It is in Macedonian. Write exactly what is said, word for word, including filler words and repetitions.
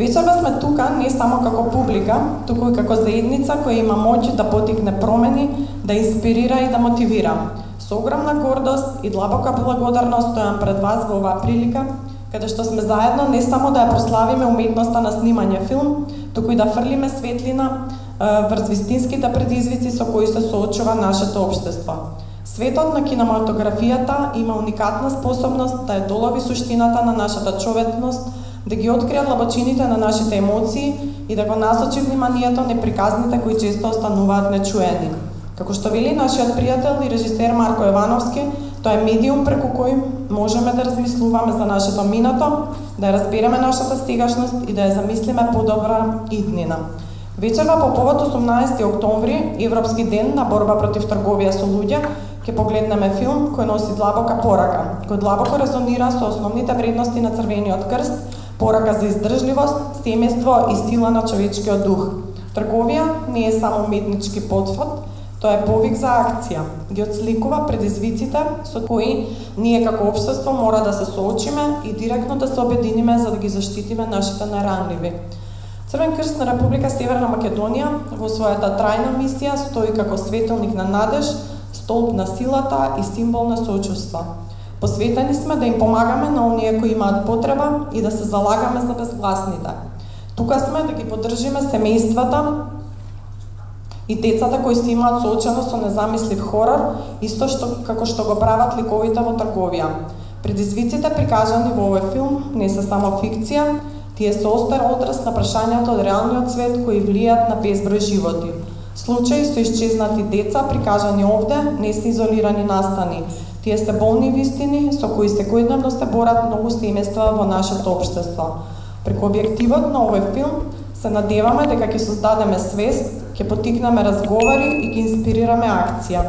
Вечерва сме тука не само како публика, туку и како заедница која има моќ да потикне промени, да инспирира и да мотивира. Со огромна гордост и длабока благодарност стојам пред вас во оваа прилика, каде што сме заедно не само да ја прославиме уметноста на снимање филм, туку и да фрлиме светлина врз вистинските предизвици со кои се соочува нашето општество. Светот на кинематографијата има уникатна способност да ја долови суштината на нашата човечност, да ги открие длабочините на нашите емоции и да го насочи вниманието неприказните кои често остануваат нечуени. Како што вели нашиот пријател и режисер Марко Јовановски, тоа е медиум преку кој можеме да размислуваме за нашето минато, да ја разбереме нашата сегашност и да ја замислиме подобра иднина. Вечерва по повод осумнаесети октомври, Европски ден на борба против трговија со луѓе, ќе погледнеме филм кој носи длабока порака, кој длабоко резонира со основните вредности на Црвениот крст, порака за издржливост, семејство и сила на човечкиот дух. Трговија не е само уметнички потфот, тоа е повик за акција. Ги отсликува предизвиците со кои ние како општество мора да се соочиме и директно да се обединиме за да ги заштитиме нашите најранливи. Црвен крст на Република Северна Македонија во својата трајна мисија стои како светилник на надеж, столб на силата и символ на сочувство. Посветени сме да им помагаме на оние кои имаат потреба и да се залагаме за безгласните. Тука сме да ги поддржиме семејствата и децата кои се имаат соочено со незамислив хорор, исто што како што го прават ликовите во трговија. Предизвиците прикажани во овој филм не се само фикција, тие се остар одраз на прашањата од реалниот свет кои влијаат на безброј животи. Случаи со исчезнати деца прикажани овде не се изолирани настани. Тие се болни вистини со кои секојдневно се борат многу семејства во нашето општество. Преку објективот на овој филм се надеваме дека ќе создадеме свест, ќе потикнеме разговори и ќе инспирираме акција.